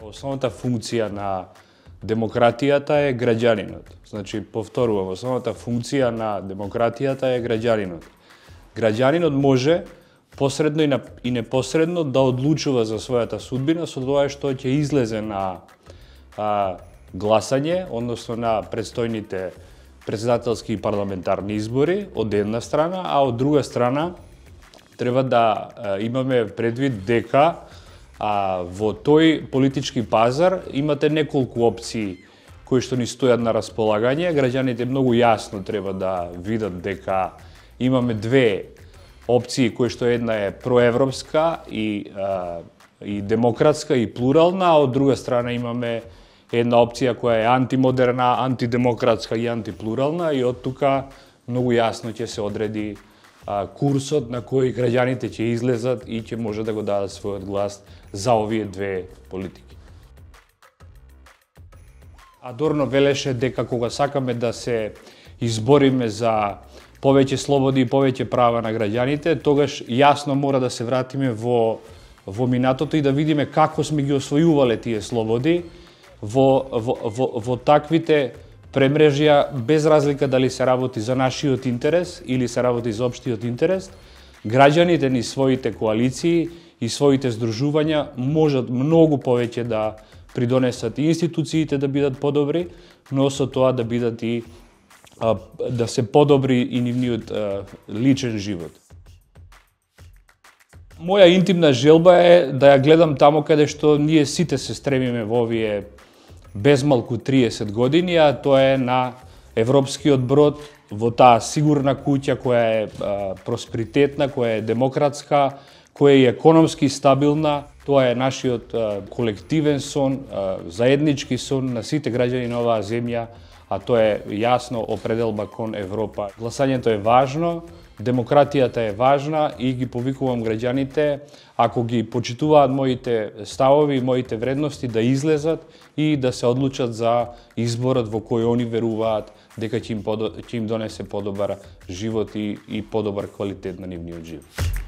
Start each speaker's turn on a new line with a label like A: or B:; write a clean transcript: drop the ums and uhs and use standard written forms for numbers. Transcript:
A: Основната функција на демократијата е граѓанинот. Значи, повторувам, основната функција на демократијата е граѓанинот. Граѓанинот може посредно и непосредно да одлучува за својата судбина со тоа што ќе излезе на гласање, односно на предстојните претседателски и парламентарни избори, од една страна, а од друга страна треба да имаме предвид дека во тој политички пазар имате неколку опции кои што ни стојат на располагање. Граѓаните многу јасно треба да видат дека имаме две опции кои што една е проевропска и демократска и плурална, а од друга страна имаме една опција која е антимодерна, антидемократска и антиплурална, и од тука многу јасно ќе се одреди курсот на кој граѓаните ќе излезат и ќе може да го дадат својот глас за овие две политики. Адорно велеше дека кога сакаме да се избориме за повеќе слободи и повеќе права на граѓаните, тогаш јасно мора да се вратиме во минатото и да видиме како сме ги освојувале тие слободи во таквите премрежја, без разлика дали се работи за нашиот интерес или се работи за општиот интерес. Граѓаните ни своите коалиции и своите здружувања можат многу повеќе да придонесат и институциите да бидат подобри, но со тоа да бидат и да се подобри и нивниот личен живот. Моја интимна желба е да ја гледам тамо каде што ние сите се стремиме во овие безмалку 30 години, а тоа е на европскиот брод, во таа сигурна куќа која е просперитетна, која е демократска, која е економски стабилна. Тоа е нашиот колективен сон, заеднички сон на сите граѓани на оваа земја, а тоа е јасно определба кон Европа. Гласањето е важно, демократијата е важна и ги повикувам граѓаните, ако ги почитуваат моите ставови и моите вредности, да излезат и да се одлучат за изборот во кој они веруваат дека ќе им донесе подобар живот и подобар квалитет на нивниот живот.